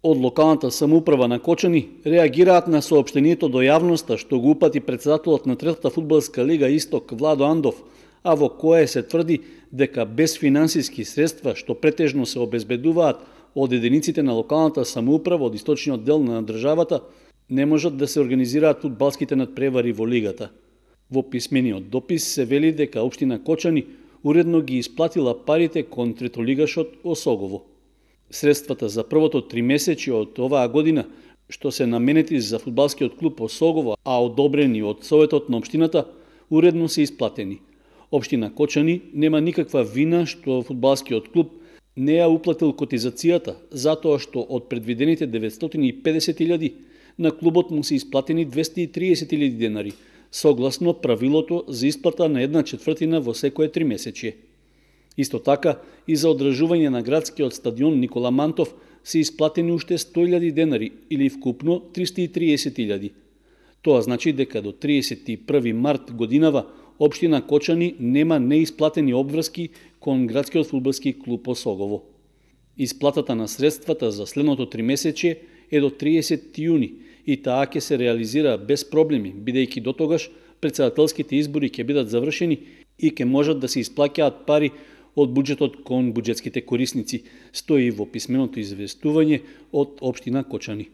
Од локалната самоуправа на Кочани реагираат на соопштението до јавноста што го упати претседателот на Третата фудбалска лига Исток Владо Андов, а во кое се тврди дека без финансиски средства што претежно се обезбедуваат од единиците на локалната самоуправа од источниот дел на државата, не можат да се организираат фудбалските надпревари во лигата. Во писмениот допис се вели дека општина Кочани уредно ги исплатила парите кон третолигашот Осогово. Средствата за првото 3 месечи од оваа година, што се наменети за фудбалскиот клуб Осогово, а одобрени од Советот на општината, уредно се исплатени. Општина Кочани нема никаква вина што фудбалскиот клуб не ја уплатил котизацијата, затоа што од предвидените 950.000 на клубот му се исплатени 230.000 денари, согласно правилото за исплата на 1/4 во секое 3 месечие. Исто така, и за одржување на градскиот стадион Никола Мантов се исплатени уште 100.000 денари или вкупно 330.000. Тоа значи дека до 31 март годинава општина Кочани нема неисплатени обврски кон градскиот фудбалски клуб Осогово. Исплатата на средствата за следното 3 месече е до 30 јуни и таа ќе се реализира без проблеми, бидејќи дотогаш претседателските избори ќе бидат завршени и ќе можат да се исплаќаат пари од буџетот кон буџетските корисници, стои во писменото известување од општина Кочани.